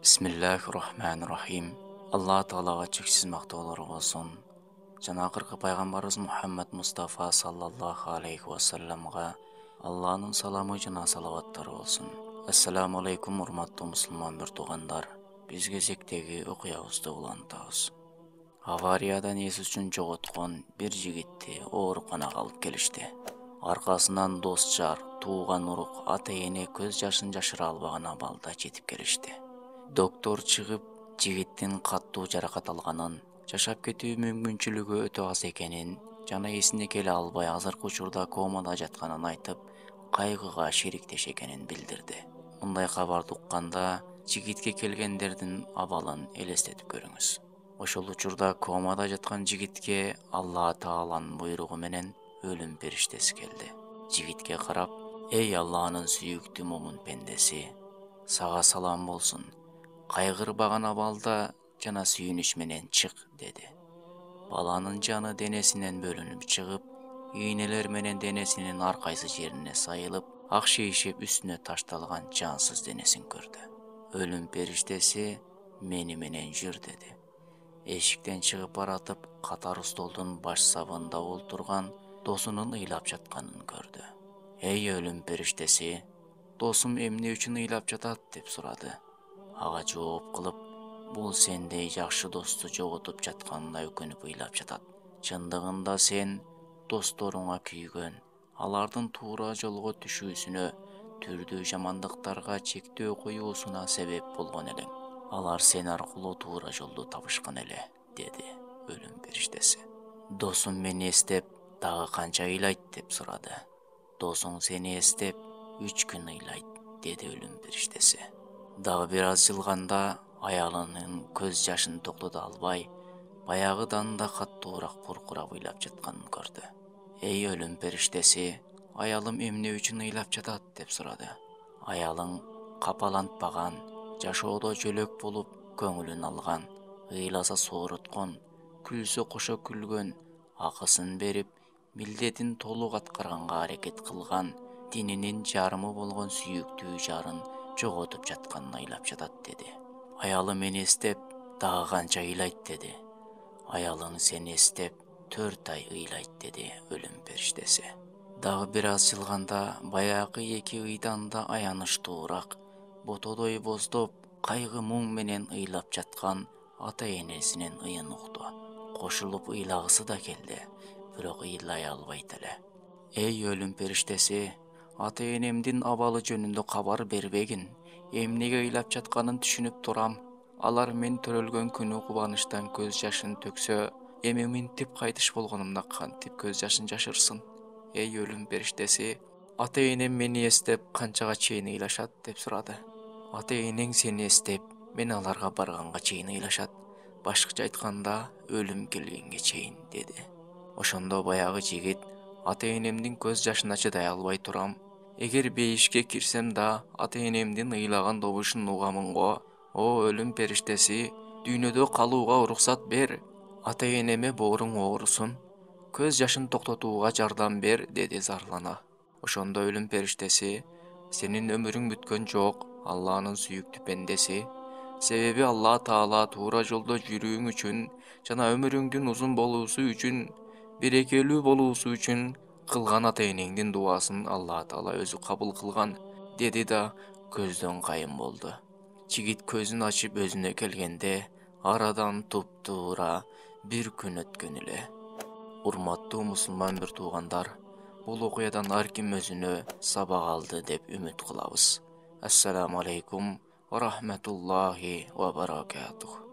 Бисмиллахир-рахманир-рахим. Алла Таалага чексиз мактоолор болсун. Жана акыркы пайгамбарыбыз Мухаммад Мустафа саллаллаху алейхи вассаламга Алланын саламы жана салаваттары болсун. Ассаламу алейкум, урматтуу мусулман бир туугандар. Биз кезектеги окуябызды улантабыз. Авариядан эс үчүн жоготкон бир жигитти ооруканага алып келишти. Аркасынан дос жар, тууган урук, ата-эне көз жашын жашыра албаган абалда жетип келишти. Доктор чыгып, жигиттин каттуу жаракат алганын, жашап кетүү мүмкүнчүлүгү өтө аз экенин жана эсине келе албай азыркы учурда комада жатканын айтып, кайгыга шериктеш экенин билдирди. Мындай кабарды укканда жигитке келгендердин абалын элестетип көрүңүз. Ошол учурда комада жаткан жигитке Алла Тааланын буйругу менен өлүм периштеси келди. Жигитке карап: "Эй Алланын сүйүктүү момун пендеси, сага салам болсун. Кайгырбаган абалда жана сүйүнүч менен чык", деди. Баланын жаны денесинен бөлүнүп чыгып, ийнелер менен денесинин ар кайсы жерине сайылып, ак шейшеп үстүнө ташталган жансыз денесин көрдү. Өлүм периштеси: "Мени менен жүр", деди. Эшиктен чыгып баратып, катар столдун баш сабында олтурган досунун ыйлап жатканын көрдү. "Эй өлүм периштеси, досум эмне үчүн ыйлап жатат?" деп сурады. Ага жооп кылып: "Бул сендей жакшы досту жоготуп жатканына өкүнүп ыйлап жатат. Чындыгында сен досторуңа күйгөн, алардын туура жолго түшүүсүнө, түрдүү жамандыктарга чектөө коюусуна себеп болгон элең. Алар сен аркылуу туура жолду табышкан эле", деди өлүм периштеси. "Досум мени эстеп, дагы канча ыйлайт?" деп сурады. "Досуң сени эстеп 3 күн ыйлайт", деди өлүм периштеси. Дагы бир аз жылганда аялынын көз жашын токтото албай, баягыдан да каттуураак буркурап ыйлап жатканын көрдү. "Эй өлүм периштеси, аялым эмне үчүн ыйлап жатат?" деп сурады. Аялың капалантпаган, жашоодо жөлөк болуп көңүлүн алган, ыйласа сооруткон, күлсө кошо күлгөн, акысын берип, милдетин толук аткарганга аракет кылган, дининин жарымы болгон сүйүктүү жарын жоготуп жатканына ыйлап жатат, деди. "Аялым мени эстеп, дагы канча ыйлайт?" деди. "Аялың сени эстеп 4 ай ыйлайт", деди өлүм периштеси. Дагы бир аз жылганда баягы 2 ыйдан да аянычтуураак, ботодой боздоп, кайгы муң менен ыйлап жаткан ата-энесинин ыйын укту. Кошулуп ыйлагысы да келди, бирок ыйлай албайт эле. "Эй өлүм периштеси, ата-энемдин абалы жөнүндө кабар бербегин. Эмнеге ыйлап жатканын түшүнүп турам. Алар мен төрөлгөн күнү кубанычтан көз жашын төксө, эми минтип кайтыш болгонумда кантип көз жашын жашырсын? Эй өлүм периштеси, ата-энем мени эстеп канчага чейин ыйлашат?" деп сурады. "Ата-энең сени эстеп, мен аларга барганга чейин ыйлашат. Башкача айтканда, өлүм келгенге чейин", деди. Ошондо баягы жигит: "Ата-энемдин көз жашына чыдай албай турам. Эгер бейишке кирсем да, ата-энемдин ыйлаган добушун угамын го. О өлүм периштеси, дүйнөдө калууга уруксат бер. Ата-энеме бооруң оорусун. Көз жашын токтотууга жардам бер", деди зарлана. Ошондо өлүм периштеси: "Сенин өмүрүң бүткөн жок, Алланын сүйүктүү пендеси. Себеби Алла Таала туура жолдо жүрүүң үчүн жана өмүрүңдүн узун болуусу үчүн, берекелүү болуусу үчүн кылган ата-энеңдин дубасын Алла Таала өзү кабыл кылган", деди да көздөн кайым болду. Жигит көзүн ачып өзүнө келгенде арадан туп-туура 1 күн өткөн эле. Урматтуу мусулман бир туугандар, бул окуядан ар ким өзүнө сабак алды деп үмүт кылабыз. Ассаламу алейкум ва рахматуллахи ва баракатух.